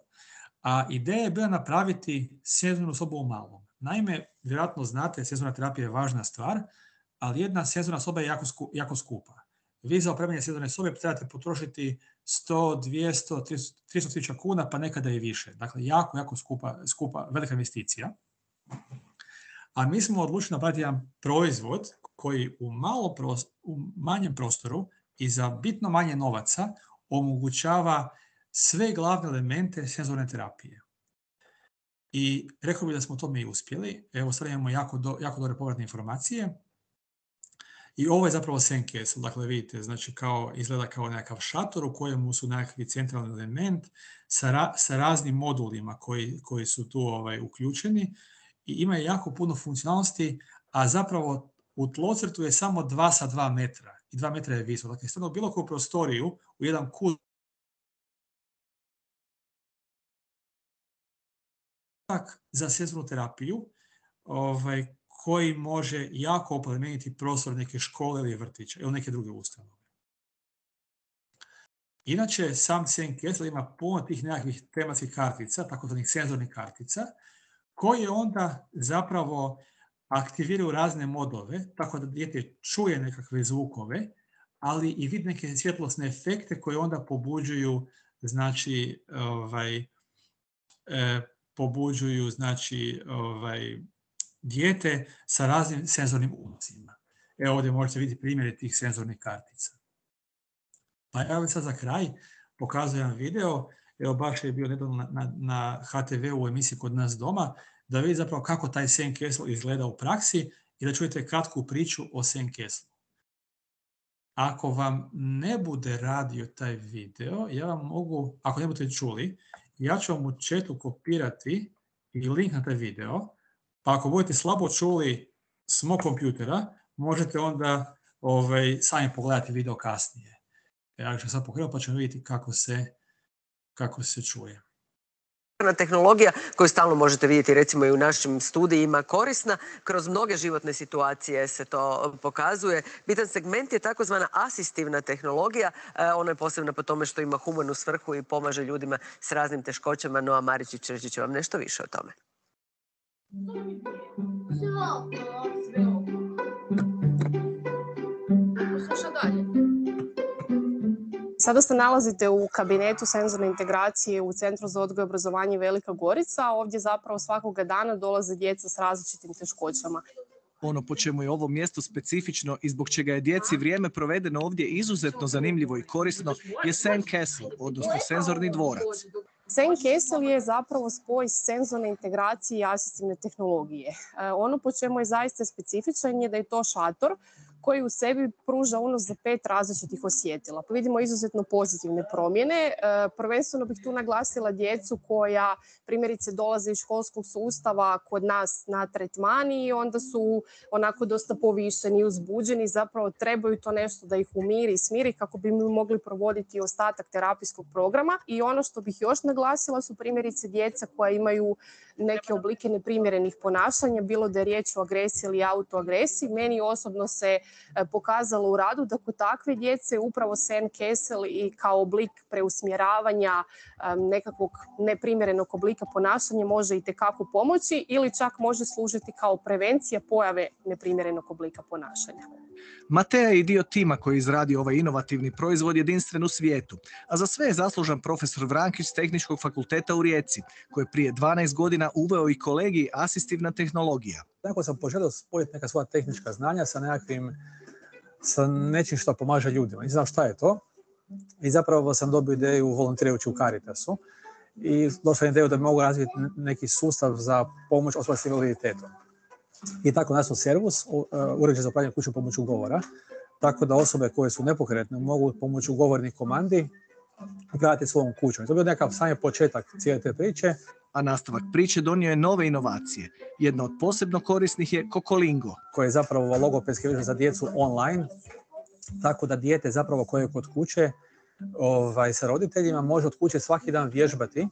A ideja je bila napraviti senzornu sobu u malom. Naime, vjerojatno znate, senzorna terapija je važna stvar, ali jedna senzorna soba je jako skupa. Vi za opremanje senzorne sobe trebate potrošiti 100, 200, 300.000 kuna, pa nekada i više. Dakle, jako skupa, velika investicija. A mi smo odlučili napraviti jedan proizvod koji u manjem prostoru i za bitno manje novaca omogućava sve glavne elemente senzorne terapije. I rekao bih da smo to mi uspjeli. Evo, sad imamo jako dobre povratne informacije. I ovo je zapravo sandcastle, dakle vidite, znači izgleda kao nekakav šator u kojemu su nekakvi centralni element sa raznim modulima koji su tu uključeni i ima jako puno funkcionalnosti, a zapravo u tlocrtu je samo 2 sa 2 metra i 2 metra je visok. Dakle, stavno bilo koju prostoriju u jedan kut za senzornu terapiju, koji može jako oplemeniti prostor neke škole ili vrtića ili neke druge ustanove. Inače, sam sandcastle ima puno tih nekakvih tematskih kartica, takozvanih senzornih kartica, koje onda zapravo aktiviraju razne modove, tako da dijete čuje nekakve zvukove, ali i vidi neke svjetlosne efekte koje onda pobuđuju, dijete sa raznim senzornim ulazima. Evo ovdje možete vidjeti primjere tih senzornih kartica. Pa evo sad za kraj pokazujem video, evo baš je bio nedavno na HTV u emisiji Kod nas doma, da vidite zapravo kako taj sandcastle izgleda u praksi i da čujete kratku priču o sandcastle. Ako vam ne bude radio taj video, ja vam mogu, ako ne budete čuli, ja ću vam u chatu kopirati i link na taj video, pa ako budete slabo čuli s mog kompjutera, možete onda sami pogledati video kasnije. Ja ću sad pokrenuti pa ćemo vidjeti kako se čuje. Tehnologija koju stalno možete vidjeti recimo i u našim studijima korisna, kroz mnoge životne situacije se to pokazuje. Bitan segment je takozvana asistivna tehnologija, ona je posebna po tome što ima humanu svrhu i pomaže ljudima s raznim teškoćama, no a Maričić reći će vam nešto više o tome. Sluša dalje. Sada se nalazite u kabinetu senzorne integracije u Centru za odgoj i obrazovanje Velika Gorica. Ovdje zapravo svakoga dana dolaze djeca s različitim teškoćama. Ono po čemu je ovo mjesto specifično i zbog čega je djeci vrijeme provedeno ovdje izuzetno zanimljivo i korisno je sandcastle, odnosno senzorni dvorac. Sandcastle je zapravo spoj senzorne integracije i asistivne tehnologije. Ono po čemu je zaista specifičan je da je to šator koji u sebi pruža unos za 5 različitih osjetila. Pa vidimo izuzetno pozitivne promjene. Prvenstveno bih tu naglasila djecu koja primjerice dolaze iz školskog sustava kod nas na tretmani i onda su onako dosta povišeni i uzbuđeni. Zapravo trebaju to nešto da ih umiri i smiri kako bi mi mogli provoditi ostatak terapijskog programa. I ono što bih još naglasila su primjerice djeca koja imaju neke oblike neprimjerenih ponašanja, bilo da je riječ o agresiji ili autoagresiji. Meni osobno se pokazalo u radu da kod takve djece upravo sandcastle i kao oblik preusmjeravanja nekakvog neprimjerenog oblika ponašanja može itekako pomoći ili čak može služiti kao prevencija pojave neprimjerenog oblika ponašanja. Mateja je i dio tima koji izradi ovaj inovativni proizvod jedinstven u svijetu, a za sve je zaslužan profesor Vrankić s Tehničkog fakulteta u Rijeci, koji je prije 12 godina uveo i kolegij asistivna tehnologija. Tako sam poželio spojiti neka svoja tehnička znanja sa nečim što pomaže ljudima. Ne znam šta je to. I zapravo sam dobio ideju volontirajući u Caritasu i došla ideju da mogu razviti neki sustav za pomoć osoba s invaliditetom. I tako nastao Servus, uređaj za upravljanje kućom pomoću govora, tako da osobe koje su nepokretne mogu pomoću govornih komandi upravljati svojom kućom. I to je bio nekakav sami početak cijele te priče. A nastavak priče donio je nove inovacije. Jedna od posebno korisnih je Kokolingo, koji je zapravo logopedski vježba za djecu online, tako da dijete zapravo koje je kod kuće sa roditeljima može od kuće svaki dan vježbati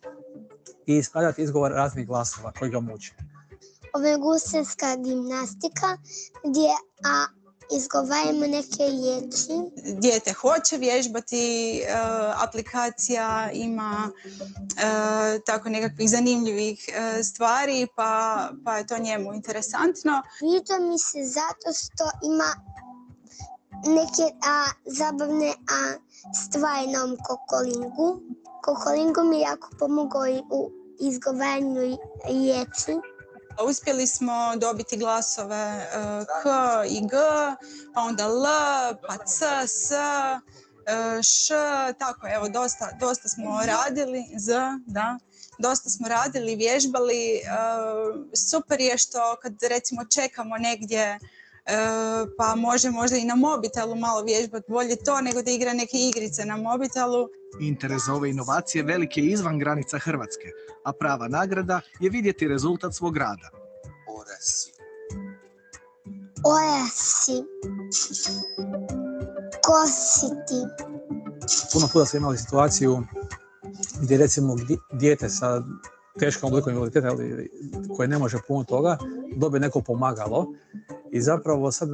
i ispravljati izgovor raznih glasova koji ga muče. Ovo je gusarska gimnastika gdje izgovaramo neke riječi. Dijete hoće vježbati, aplikacija ima tako nekakvih zanimljivih stvari, pa je to njemu interesantno. Sviđa mi se zato što ima neke zabavne stvari na ovom kokolingu. Kokolingu mi je jako pomogao i u izgovaranju riječi. Uspjeli smo dobiti glasove K i G, pa onda L, pa C, S, Š, tako evo, dosta smo radili, Z, da, dosta smo radili, vježbali. Super je što kad recimo čekamo negdje, pa može možda i na mobitelu malo vježbati, bolje to nego da igra neke igrice na mobitelu. Interes za ove inovacije velik je izvan granica Hrvatske, a prava nagrada je vidjeti rezultat svog rada. Orasi. Kositi. Puno puta smo imali situaciju gdje recimo dijete sa teškom oblikom invaliditeta koje ne može puno toga, dobije neko pomagalo i zapravo sad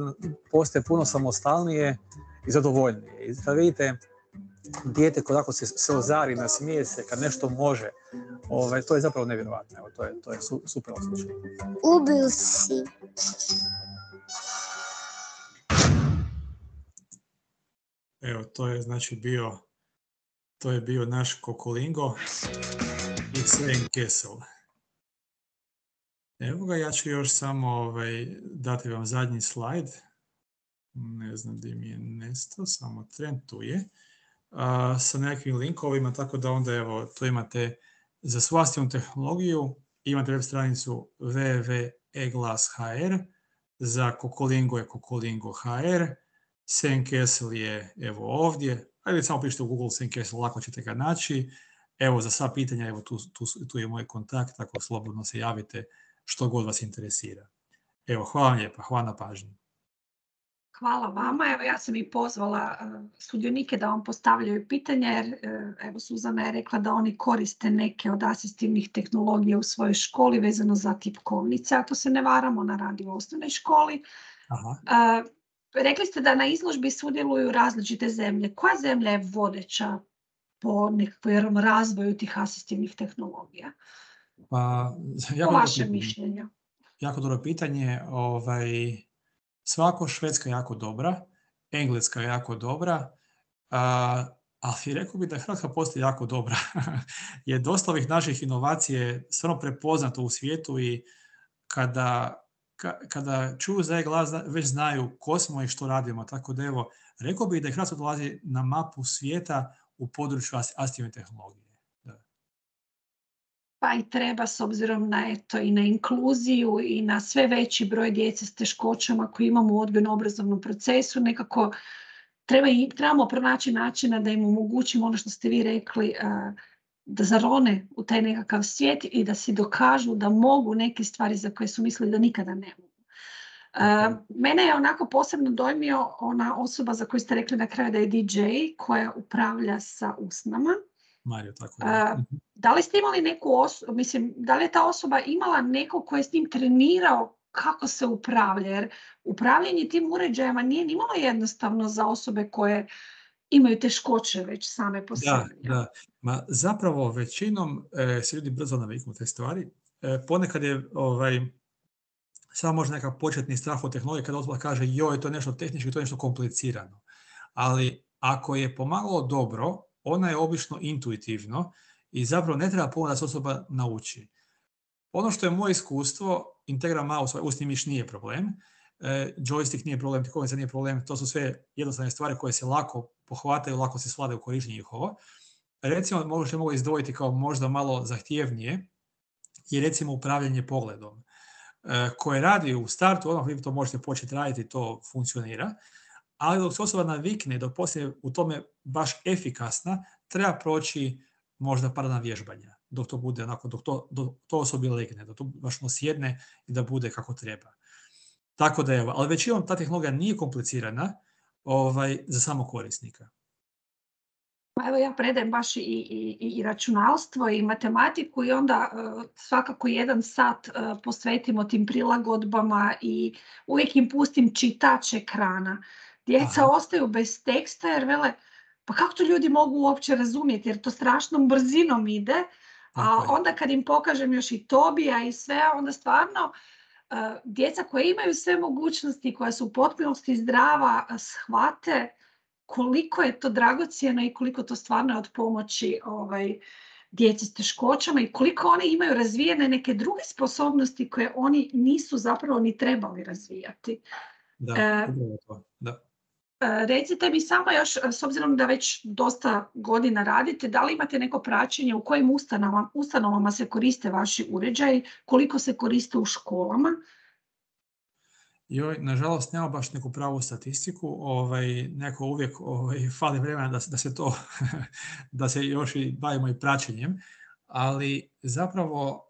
postaje puno samostalnije i zadovoljnije. I kad vidite dijete koje ako se ozari, nasmije se, kad nešto može, to je zapravo nevjerojatno. Evo, to je super osjećaj. Ubiju si. Evo, to je znači bio naš Kokolingo i Sven Kessel. Evo ga, ja ću još samo dati vam zadnji slajd. Ne znam gdje mi je nestao, samo tren tu je. Sa nekakvim linkovima, tako da onda evo, to imate za svu asistivnu tehnologiju, imate web stranicu www.eglas.hr, za Kokolingo je Kokolingo.hr, Sven Kessel je evo ovdje, ajde samo pišite u Google Sven Kessel, lako ćete ga naći. Evo za sva pitanja, evo tu je moj kontakt, tako slobodno se javite što god vas interesira. Evo, hvala vam lijepa, hvala na pažnji. Hvala vama. Evo, ja sam i pozvala sudionike da vam postavljaju pitanja, jer evo, Suzana je rekla da oni koriste neke od asistivnih tehnologija u svojoj školi vezano za tipkovnice, ako se ne varamo, na radi u osnovnoj školi. Rekli ste da na izložbi sudjeluju različite zemlje. Koja zemlja je vodeća po nekakvom razvoju tih asistivnih tehnologija? Po vašem mišljenju. Jako dobro pitanje. Svako, Švedska je jako dobra, Engleska je jako dobra, ali rekao bih da Hrvatska postoji jako dobra. Je dosta ovih naših inovacije stvarno prepoznato u svijetu i kada čuju za e-glas već znaju ko smo i što radimo. Tako da evo, rekao bih da je Hrvatska dolazi na mapu svijeta u području asistivne tehnologije. Pa i treba, s obzirom na i na inkluziju i na sve veći broj djece s teškoćama koji imamo u odgojno-obrazovnom procesu, nekako trebamo pronaći načina da im omogućimo ono što ste vi rekli, da zarone u taj nekakav svijet i da si dokažu da mogu neke stvari za koje su mislili da nikada ne mogu. Mene je onako posebno dojmio ona osoba za koju ste rekli na kraju da je DJ, koja upravlja sa usnama. Mario, tako je. Da li ste imali neku osobu, da li je ta osoba imala neko koji je s njim trenirao kako se upravlja? Jer upravljanje tim uređajima nije nimalo jednostavno za osobe koje imaju teškoće već same po sebi. Da. Zapravo većinom se ljudi brzo naviknu te stvari. Ponekad je samo možda nekakav početni strah od tehnologije kada osoba kaže joj, to je nešto tehnički, to je nešto komplicirano. Ali ako je pomagalo dobro, ona je obično intuitivno i zapravo ne treba puno da se osoba nauči. Ono što je moje iskustvo, Integra mouse, usni miš nije problem, joystick nije problem, tipkovnica nije problem, to su sve jednostavne stvari koje se lako pohvataju, lako se svlade u korištenje njihovo. Recimo, možda mogu izdvojiti kao možda malo zahtjevnije i recimo upravljanje pogledom, koje radi u startu, odmah vi to možete početi raditi, to funkcionira, ali dok se osoba navikne, dok poslije u tome baš efikasna, treba proći možda par dana vježbanja, dok to bude onako, dok to osobi legne, da to baš sjedne i da bude kako treba. Tako da evo, ali većinom ta tehnologija nije komplicirana za samog korisnika. Pa evo ja predajem baš i računalstvo i matematiku i onda svakako 1 sat posvetimo tim prilagodbama i uvijek im pustim čitač ekrana. Djeca ostaju bez teksta jer vele, pa kako to ljudi mogu uopće razumjeti jer to strašnom brzinom ide, a onda kad im pokažem još i Tobija i sve, onda stvarno djeca koja imaju sve mogućnosti, koja su u potpunosti zdrava, shvate koliko je to dragocjeno i koliko to stvarno je od pomoći djeci s teškoćama i koliko oni imaju razvijene neke druge sposobnosti koje oni nisu zapravo ni trebali razvijati. Recite mi samo još, s obzirom da već dosta godina radite, da li imate neko praćenje u kojim ustanovama se koriste vaši uređaji, koliko se koriste u školama? Nažalost, nema baš neku pravu statistiku, neko uvijek fali vremena da se to, da se još i bavimo i praćenjem, ali zapravo,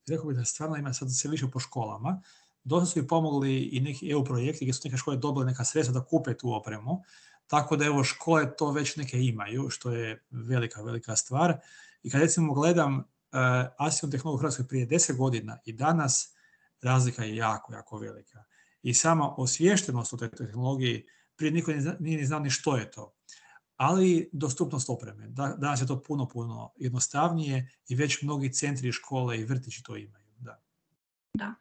rekao bih da stvarno ima sad sve više po školama. Dosta su i pomogli i neki EU projekti gdje su neke škole dobile neka sredstva da kupe tu opremu, tako da evo škole to već neke imaju, što je velika stvar. I kad recimo gledam asistivnu tehnologiju u Hrvatskoj prije 10 godina i danas, razlika je jako velika. I sama osviještenost o toj tehnologiji, prije niko nije ni znao ni što je to. Ali dostupnost opreme. Danas je to puno jednostavnije i već mnogi centri, škole i vrtići to imaju. Da.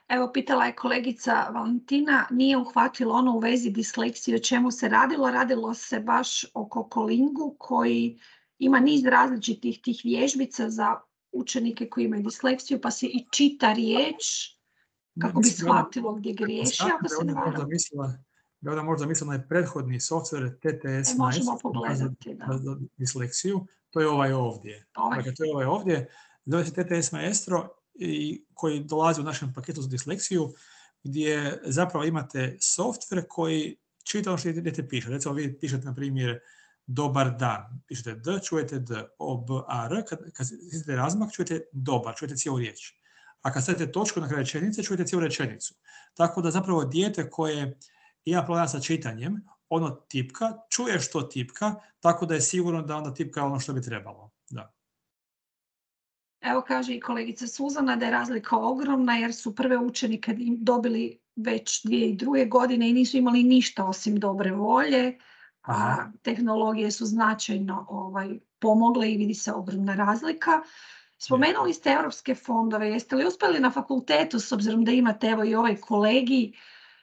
Evo, pitala je kolegica Valentina, nije uhvatilo ono u vezi disleksije o čemu se radilo. Radilo se baš o Kokolingu koji ima niz različitih tih vježbica za učenike koji imaju disleksiju, pa se i čita riječ kako bi shvatilo gdje griješi, ako se ne varam. Ja onda možda mislila na prethodni software TTS možemo pogledati, za disleksiju. To je ovaj ovdje. Dakle, to je ovaj ovdje. Zove se TTS Maestro i koji dolazi u našem paketu za disleksiju, gdje zapravo imate software koji čita ono što idete piše. Recimo vi pišete, na primjer, dobar dan. Pišete D, čujete D, O, B, A, R. Kad idete razmak, čujete dobar, čujete cijelu riječ. A kad stavite točku na kraju rečenice, čujete cijelu rečenicu. Tako da zapravo dijete koje ima problema sa čitanjem, ono tipka, čuje što tipka, tako da je sigurno da onda tipka ono što bi trebalo. Da. Evo kaže i kolegica Suzana da je razlika ogromna jer su prve učenike dobili već 2002. godine i nisu imali ništa osim dobre volje, a tehnologije su značajno pomogle i vidi se ogromna razlika. Spomenuli ste europske fondove, jeste li uspjeli na fakultetu, s obzirom da imate evo i ovaj kolegij,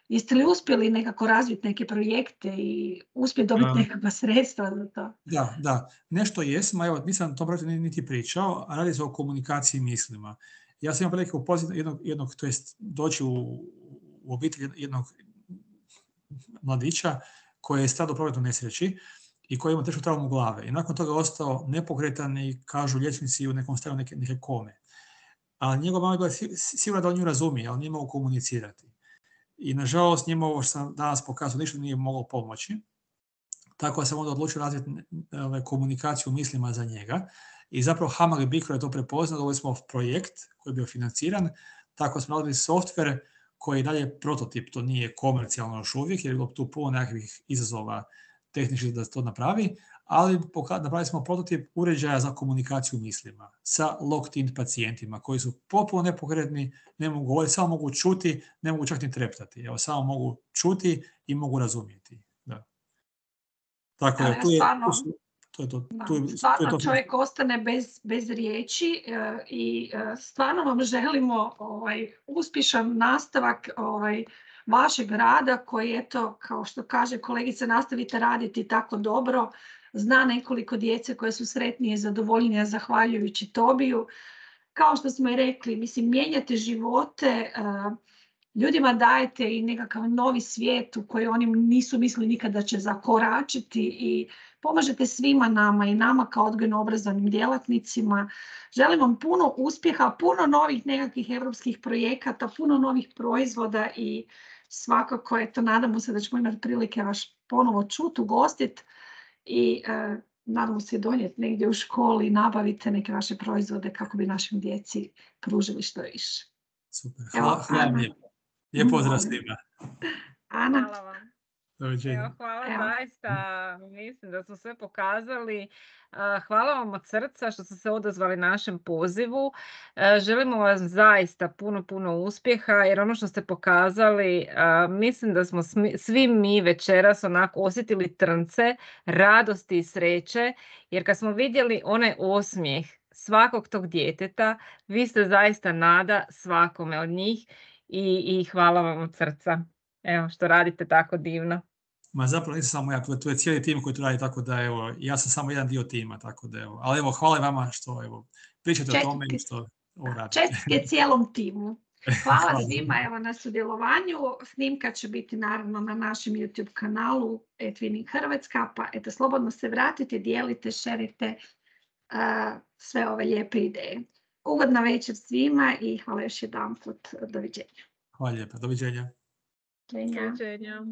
jeste li uspjeli nekako razviti neke projekte i uspjeti dobiti nekakva sredstva za to? Da. Nešto jesmo, evo, nisam o tom projektu niti pričao, a radi se o komunikaciji mislima. Ja sam imao prilike upoznati jednog, to jest doći u obitelj jednog mladića koji je stradao u prometnoj nesreći i koji ima tešku traumu glave. I nakon toga ostao nepokretan i kažu liječnici u nekom stanju neke kome. Ali njegova mama je bila sigurna da on nju razumije, ali nije mogao komunicirati. I nažalost njima ovo što sam danas pokazao ništa nije moglo pomoći. Tako sam onda odlučio razviti komunikaciju mislima za njega. I zapravo HAMAG BICRO je to prepoznao, dobili smo projekt koji je bio financiran. Tako smo radili software koji je dalje prototip, to nije komercijalno još uvijek, jer je bilo tu puno nekakvih izazova tehničkih da se to napravi, ali napravili smo prototip uređaja za komunikaciju mislima sa locked-in pacijentima koji su potpuno nepokretni, ne mogu govoriti, samo mogu čuti, ne mogu čak ni treptati. Evo, samo mogu čuti i mogu razumjeti. Da. Tako da, stvarno čovjek ostane bez riječi i stvarno vam želimo uspješan nastavak vašeg rada koji, eto, kao što kaže kolegica, nastavite raditi tako dobro. Zna nekoliko djece koje su sretnije i zadovoljnije zahvaljujući Tobiju. Kao što smo i rekli, mislim, mijenjate živote, ljudima dajete i nekakav novi svijet u koji oni nisu mislili nikada će zakoračiti i pomažete svima nama i nama kao odgojno-obrazovnim djelatnicima. Želim vam puno uspjeha, puno novih nekakvih europskih projekata, puno novih proizvoda i svakako, eto, nadamo se da ćemo imati prilike vas ponovo čuti, ugostiti i nadamo se donijeti negdje u školi i nabavite neke vaše proizvode kako bi našim djeci pružili što više. Super, hvala vam lijepo. Lijep pozdrav svima. Ana. Hvala vam. Doviđenja. Evo, hvala Evo. zaista, mislim da smo sve pokazali. Hvala vam od srca što ste se odazvali našem pozivu. Želimo vam zaista puno uspjeha, jer ono što ste pokazali, mislim da smo svi mi večeras onako osjetili trnce radosti i sreće, jer kad smo vidjeli onaj osmijeh svakog tog djeteta, vi ste zaista nada svakome od njih i hvala vam od srca. Evo, što radite tako divno. Ma zapravo nisam samo ja, tu je cijeli tim koji to radi, tako da evo, ja sam samo jedan dio tima, tako da evo. Ali evo, hvala vama što evo, pričate o tome i što ovo radite. Čestitke cijelom timu. Hvala svima evo, na sudjelovanju. Snimka će biti naravno na našem YouTube kanalu eTwinning Hrvatska, pa eto, slobodno se vratite, dijelite, šerite sve ove lijepe ideje. Ugodna večer svima i hvala još jedanput. Doviđenja. Hvala lijepa, doviđenja. Doviđenja. Doviđenja.